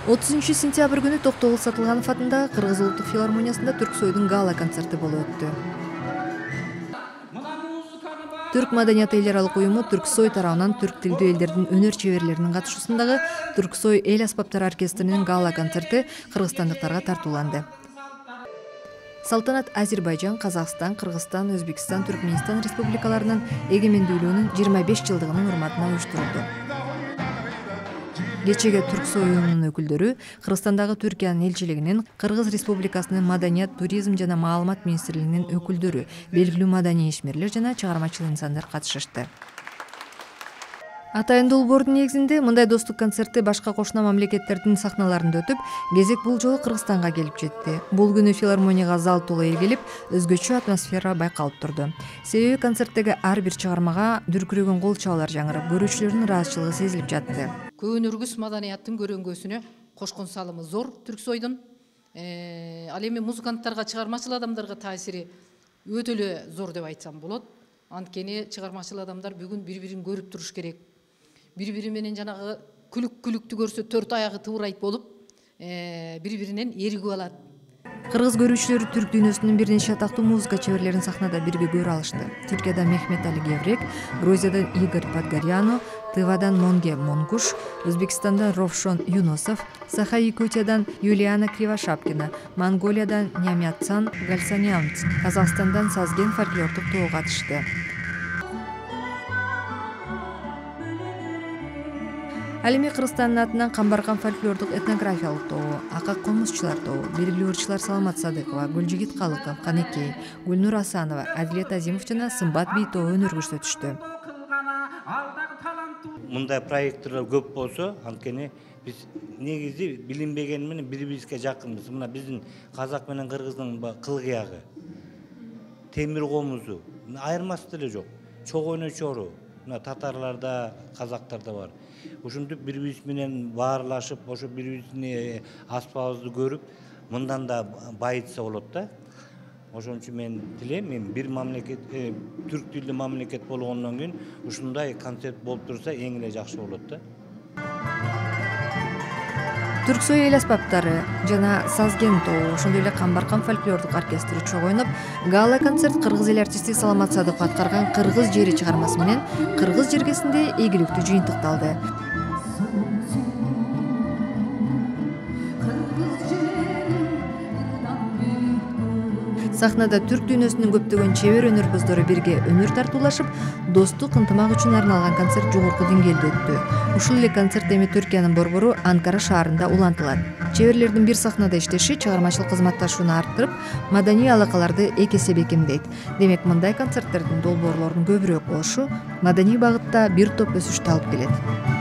30-сентябрь күнү Токтогул Сатылганов атындагы Кыргыз улуттук филармониясында Түрксойдун гала концерти болуп өттү. Түрк маданияты эл аралык уюму Түрксой тарабынан түрк тилдүү элдердин өнөр чеберлеринин катышуусундагы Түрксой эл аспаптары оркестринин гала концерти кыргызстандыктарга тартууланды. Салтанат Азербайжан, Казакстан, Кыргызстан, Өзбекстан, Түркмөнстан республикаларынын эгемендүүлүгүнүн 25 жылдыгынын урматына уюштурулду. Кечеге Түрксой уюмунун өкүлдөрү Кыргызстандагы Түркиянын элчилигинин, Кыргыз Республикасынын Маданият, туризм жана маалымат министрлигинин өкүлдөрү, белгилүү маданий ишмерлер жана чыгармачыл инсандар катышышты. Атайын долбоордун негизинде мындай достук концерти башка кошуна мамлекеттердин сахналарында өтүп, кезек бул жолу Кыргызстанга келип жетти. Бул күнү филармонияга зал толо эл келип, өзгөчө атмосфера байкалып турду. Себеби концерттеги ар бир чыгармага дүркүрөгөн кол чабуулар жаңырып, көрүүчүлөрдүн ыраазычылыгы сезилип жатты. Көөнөргүс маданияттын көрөнгөсүнө кошкон салымы зор Түрксойдун. Ал эми музыканттарга, чыгармачыл адамдарга таасири өтө эле зор деп айтсам болот. Анткени чыгармачыл адамдар бүгүн бири-бирин көрүп туруш керек. Бири-бири менен жанагы күлүктү көрсө төрт аягы тыбырайт болуп, бири-биринен эригип алат. Кыргыз көрүүчүлөрү түрк дүйнөсүнүн бир нече атактуу музыка чеберлерин сахнада бирге көрө алышты. Түркияда Мехмет Али Геврек, Грузиядан Игорь Подгоряно, Тывадан Монге Монгуш, Өзбекстандан Ровшон Юнусов, Саха-Якутиядан Юлиана Кривошапкина, Монголиядан Нямятсан Гальсанянц, Казакстандан Сазген фольклордук тобу катышты. Ал эми Кыргызстандын атынан Камбаркан фольклордук этнографиялык тобу, Акак комузчулар тобу, белгилүү ырчылар Саламат Садыкова, Гүлжигит Калыков, Канекей, Гүлнур Асанова, Адилет Азимов жана Сымбат би тобу өнөр көрсөтүштү. Мындай проекттер көп болсо, анткени биз негизи билинбеген менен бири-бирибизге жакынбыз. Мына биздин казак менен кыргыздын кылгыягы, темир комузу айырмасы деле жок. Чогойно чору, мына татарларда, казактарда бар. Ушинтип бири-бирибиз менен баарлашып, ошо бири-бирибиздин аспабыбызды көрүп, мындан да байытса болот да. Ошон үчүн мен тилейм, бир мамлекет, түрк тилдүү мамлекет болгондон кийин ушундай концерт болуп турса эң эле жакшы болот да. Түрксой эл аспаптары жана Сазген тобу, ошондой эле Камбаркан фольклордук оркестри чогуу ойноп, гала концерт кыргыз эл артисти Саламат Садыков аткарган Кыргыз жери чыгармасы менен кыргыз жергесинде ийгиликтүү жыйынтыкталды. Сахнада түрк дүйнөсүнүн көптөгөн чебер өнөрпөздөрү бирге өнөр тартуулашып, достук, ынтымак үчүн арналган концерт жогорку деңгээлде өттү. Ушул эле концерт эми Түркиянын борбору Анкара шаарында улантылат. Чеберлердин бир сахнада иштеши чыгармачыл кызматташууну арттырып, маданий алакаларды эки эсе бекемдейт. Демек, мындай концерттердин долбоорлорунун көбүрөөк болушу маданий багытта бир топ өсүштү алып келет.